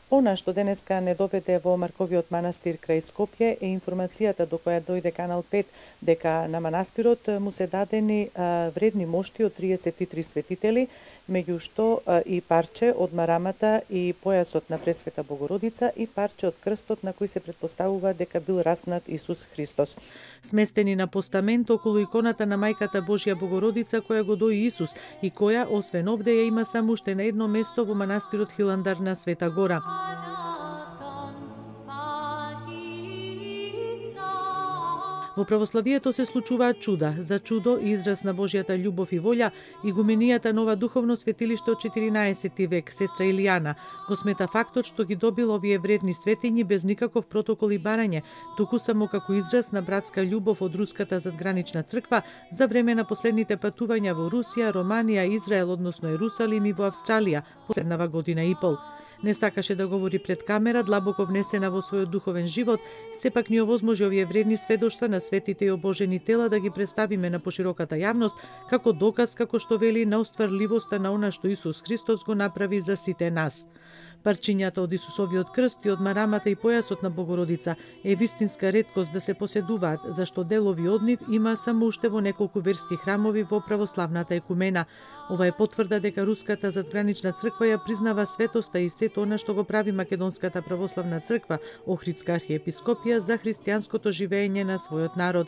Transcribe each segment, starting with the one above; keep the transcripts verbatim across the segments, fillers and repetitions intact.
Она што денеска не доведе во Марковиот манастир крај Скопје е информацијата до која дојде Канал пет дека на манастирот му се дадени а, вредни мошти од триесет и три светители, меѓу што а, и парче од марамата и појасот на Пресвета Богородица и парче од крстот на кој се претпоставува дека бил распнат Исус Христос. Сместени на постамент околу иконата на Мајката Божја Богородица која го дои Исус и која освен овде ја има само уште на едно место во манастирот Хиландар на Света Гора. Во православието се случуваат чуда. За чудо и израз на Божјата љубов и волја, игуменијата Нова духовно светилиште од четиринаесети век, сестра Илијана, го смета фактот што ги добил овие вредни светињи без никаков протокол и барање, туку само како израз на братска љубов од Руската задгранична црква за време на последните патувања во Русија, Романија, Израел, односно Ерусалим и во Австралија, последнава година и пол. Не сакаше да говори пред камера, длабоко внесена во својот духовен живот, сепак ни овозможи овие вредни сведоштва на светите и обожени тела да ги представиме на пошироката јавност како доказ, како што вели, на остварливоста на она што Исус Христос го направи за сите нас. Парчињата од Исусовиот крст и од марамата и појасот на Богородица е вистинска реткост да се поседуваат, зашто делови од нив има само уште во неколку верски храмови во православната екумена. Ова е потврда дека Руската задгранична црква ја признава светоста и сето она што го прави Македонската православна црква, Охридска архиепископија, за христијанското живење на својот народ.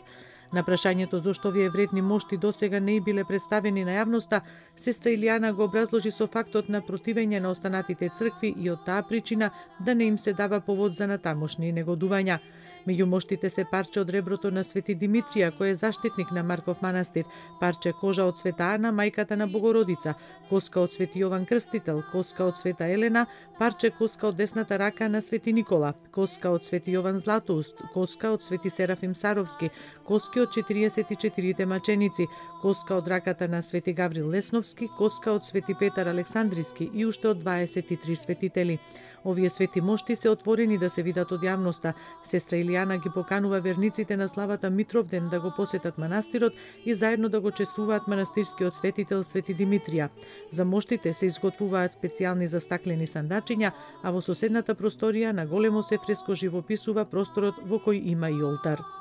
На прашањето зошто овие вредни мошти досега не и биле представени на јавноста, сестра Илијана го образложи со фактот на противење на останатите цркви и од таа причина да не им се дава повод за натамошни негодувања. Меѓу моштите се парче од реброто на Свети Димитрија, кој е заштитник на Марков манастир, парче кожа од Света Ана, мајката на Богородица, коска од Свети Јован Крстител, коска од Света Елена, парче коска од десната рака на Свети Никола, коска од Свети Јован Златоуст, коска од Свети Серафим Саровски, коски од четириесет и четирите маченици, коска од раката на Свети Гаврил Лесновски, коска од Свети Петар Александриски и уште од дваесет и три светители. Овие свети мошти се отворени да се видат од јавноста. Сестра Илијана ги поканува верниците на славата Митровден да го посетат манастирот и заедно да го чествуваат манастирскиот светител Свети Димитрија. За моштите се изготвуваат специјални застаклени сандачиња, а во соседната просторија на големо се фреско живописува просторот во кој има и олтар.